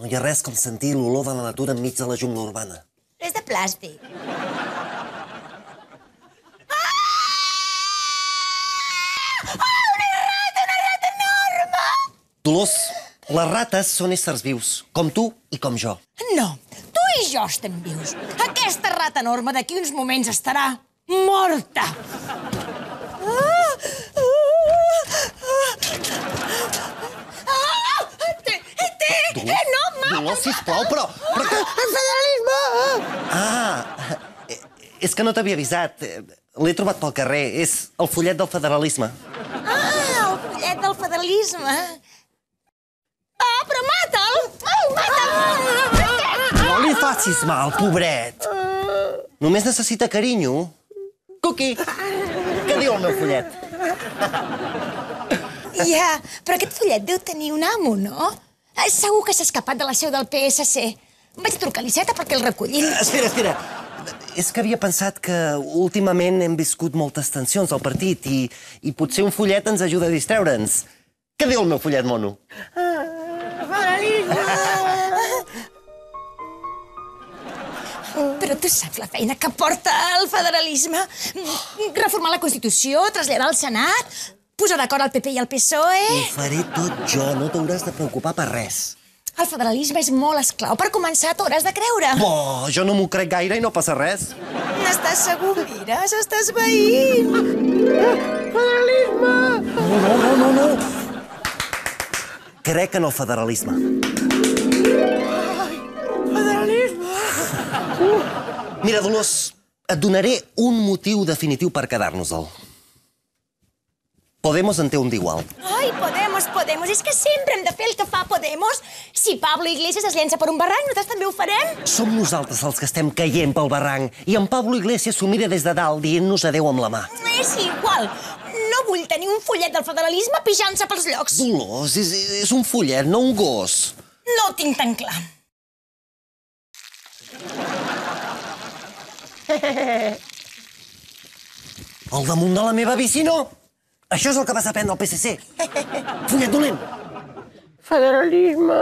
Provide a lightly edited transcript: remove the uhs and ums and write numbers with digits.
No hi ha res com sentir l'olor de la natura enmig de la jungla urbana. És de plàstic. Una rata enorme! Dolors, les rates són éssers vius, com tu i com jo. No, tu i jo estem vius. Aquesta rata enorme d'aquí uns moments estarà morta. Dolors, sisplau, però... El federalisme! És que no t'havia avisat. L'he trobat pel carrer. És el fullet del federalisme. El fullet del federalisme. Però mata'l! Mata'l! No li facis mal, pobret. Només necessita carinyo. Cuqui, què diu el meu fullet? Ja, però aquest fullet deu tenir un amo, no? Segur que s'ha escapat de la seu del PSC. Vaig trucar a l'Iceta perquè el recullin. Espera. És que havia pensat que últimament hem viscut moltes tensions al partit i potser un fullet ens ajuda a distreure'ns. Què diu el meu fullet, mono? Però tu saps la feina que porta el federalisme? Reformar la Constitució, traslladar al Senat, posar d'acord el PP i el PSOE... Ho faré tot jo, no t'hauràs de preocupar per res. El federalisme és molt esclau. Per començar, t'hauràs de creure. Jo no m'ho crec gaire i no passa res. N'estàs segur? Mira, s'estàs veient. Federalisme! No. Crec en el federalisme. Federalisme! Mira, Dolors, et donaré un motiu definitiu per quedar-nos-el. Podemos en té un d'igual. Ai, Podemos. És que sempre hem de fer el que fa Podemos. Si Pablo Iglesias es llença per un barranc, nosaltres també ho farem. Som nosaltres els que estem caient pel barranc i en Pablo Iglesias s'ho mira des de dalt dient-nos adéu amb la mà. És igual. No vull tenir un fullet del federalisme pixant-se pels llocs. Dolors, és un fullet, no un gos. No ho tinc tan clar. Al damunt de la meva bici, no? Això és el que vas aprendre al PSC. Fullet dolent. Federalisme...